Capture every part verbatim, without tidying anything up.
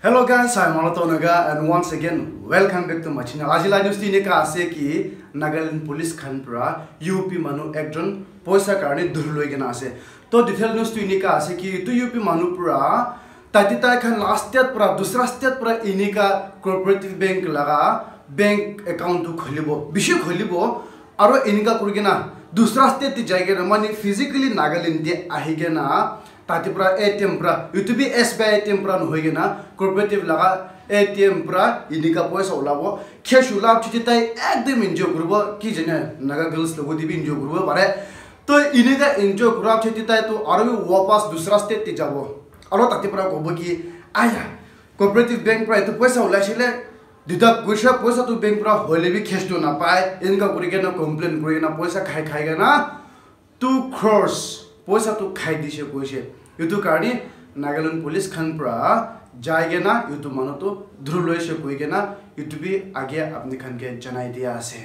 Hello guys, I'm Alato Naga and once again welcome back to my channel. Aji la news tu enika ase ki Nagaland police khan pra U P manu ekjon poisa karne dhuri loi kena ase. To detail news tu enika ase ki tu U P manu pra tate tai khan la state pra dusra state pra enika cooperative bank laga bank account tu kholibo, bishi kholibo, aro enika kuri kena dusra state te jai kena mane physically Nagaland te ahi kena tate pra A T M pra, etu bi S B I A T M pra nohoi kena cooperative laga A T M pra enika poisa ulabo. Cash ulab chiti tai ekdom enjoy kuribo, ki jane Naga girls logo te bi enjoy kuribo pare. To enika enjoy kurab chiti tai to aro bi wapas dusra state te jabo. Aro tate pra kobo ki, "Aya, cooperative bank pra etu poisa ulaisile, deduct kurise, poisa tu bank pra hoile bi cash tu napai," enika kuri kena complain kuri kena poisa khai khai kena two crores poisa tu khai dise koise. Etu karne Nagaland police khan pra jai kena etu manu tu dhuri loise koi kena etu bi age apni khan ke janai dia ase.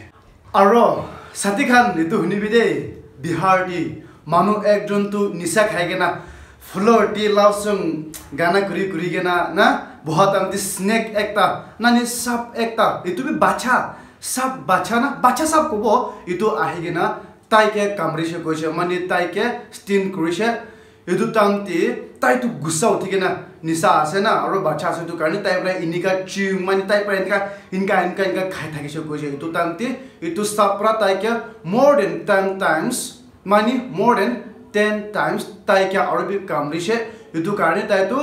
Aro sati khan etu hunibi de, Bihar te manu ekjon tu nisa khai kena floor te love song gana kuri kuri kena na boha time te snake ekta na ni sap ekta, etu bi bacha, sap bacha na, bacha sap kobo, etu ahi kena tai ke kamrise koise, mane tai ke sting kurise. Etu time te tai tu gussa uthi kena nisa ase na, aro bacha ase, etu karne tai pra enika chew, mane tai pra enika, enika, enika, enika khai thakise koise. Etu time te etu sap pra tai ke more than ten times, mane more than ten times tai ke aro bi kamrise. Etu karne tai tu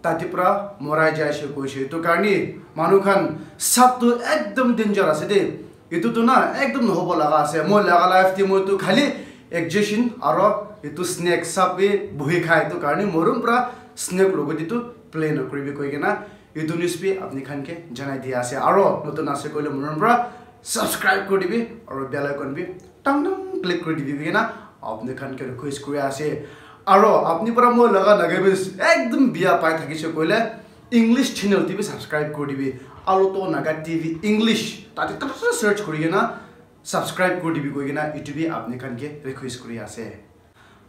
tate pra morai jaise koise. Etu karne manu khan sap tu ekdom danger ase de. Etu tu na ekdom nohobo laga ase. Moi laga life te moi tu khali exception aro etu snake sap bi buhi khai, etu karne morom pra snake logo te tu play nokuribi koi kena etu news bi apni khan ke janai dia ase. Aro notun ase koile morom pra subscribe kuri dibi aro bell icon bi tang tang click kuri dibi kena apni khan ke request kuri ase. Aro apni pra moi laga Nagamese ekdom bia pai thakise koile English channel te bi subscribe kuri dibi, Alato Naga T V English, tate tate search kuri kena subscribe kuri dibi koi kena etu bi apni khan ke request kuri ase.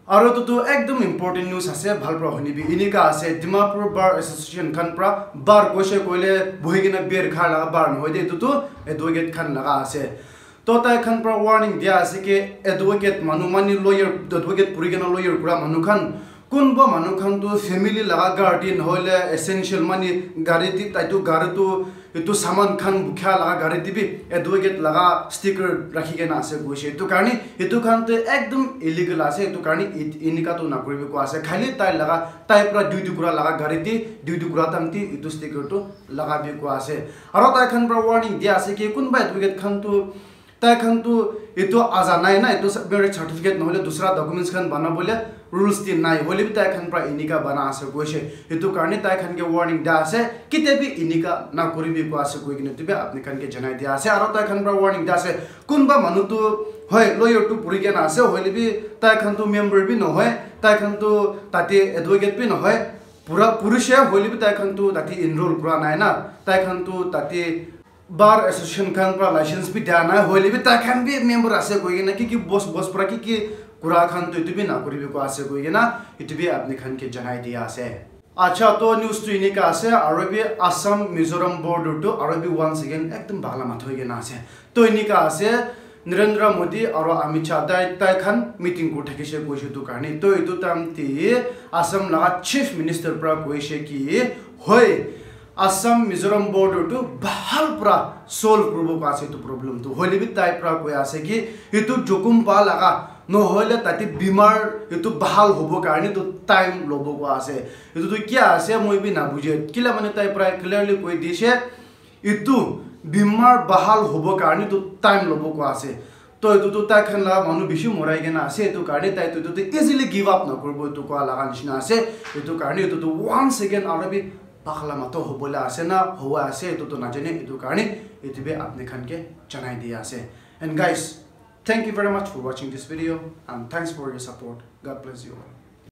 Aro etu tu ekdom important news ase, bhal pra hunibi. Enika ase, Dimapur Bar Association khan pra, bar koise koile buhi kena beer kha laga bar nohoi de, etu tu advocate khan laga ase. To tai khan pra warning dia ase ki advocate manu, mane lawyer, advocate puri kena lawyer kura manu khan, kunba manu khan tu family laga gari te nohoile essential mane gari te, tai tu gari tu etu saman khan bukha laga gari te bi advocate laga sticker rakhi kena ase koise. Etu karne etu khan tu ekdom illegal ase. Etu karne et-, enika tu nakuribi koi ase. Khali tai laga, tai pra duty kura laga gari te duty kura time te etu sticker tu lagabi koi ase. Aro tai khan pra warning dia ase ki kunba advocate khan tu tai khan tu etu aza nai na, etu sa-, marriage certificate nohole dusra documents khan banabole rules te nai, hoile bi tai khan pra enika bana ase koise. Etu karne tai khan ke warning dia ase, ketia bi enika nakuribi koi ase koi kena etu bi apni khan ke janai dia ase. Aro tai khan pra warning dia ase, kunba manu tu hoi lawyer tu puri kena ase, hoile bi tai khan tu member bi nohoi, tai khan tu tate advocate bi nohoi, pura purushe hoile bi tai khan tu tate enroll kura nai na, tai khan tu tate Bar Association khan pra license bi dia nai, hoile bi tai khan bi member ase koi kena ki ki boss, boss pra ki ki kura khan tu etu bi nakuribi koi ase koi kena etu bi apni khan ke janai dia ase. Acha, to news tu enika ase, aro bi Assam Mizoram border tu aro bi once again ekdom bagla matha hoi kena ase. To enika ase, Narendra Modi aro Amit Shah tai, tai khan meeting kuri thakise koise etu karne. To etu time te Assam laga Chief Minister pra koise ki, hoi, Assam Mizoram border tu bahal pra solve kuribo koi ase etu problem tu. Hoile bi tai pra koi ase ki etu jokhom pa laga nohoile tate bimar etu bahal hobo karne tu time lobo koi ase. Etu tu kia ase moi bi nabuje. Kila mane tai pra clearly koi dise etu bimar bahal hobo karne tu time lobo koi ase. To etu tu tai khan laga manu bishi morai kena ase, etu karne tai tu etu tu easily give up nakuribo etu koi laga nishina ase. Etu karne etu tu once again aro bi bagla matha hobole ase na howa ase, etu tu najane, etu karne etu bi apni khan ke janai dia ase. And guys, thank you very much for watching this video and thanks for your support. God bless you all.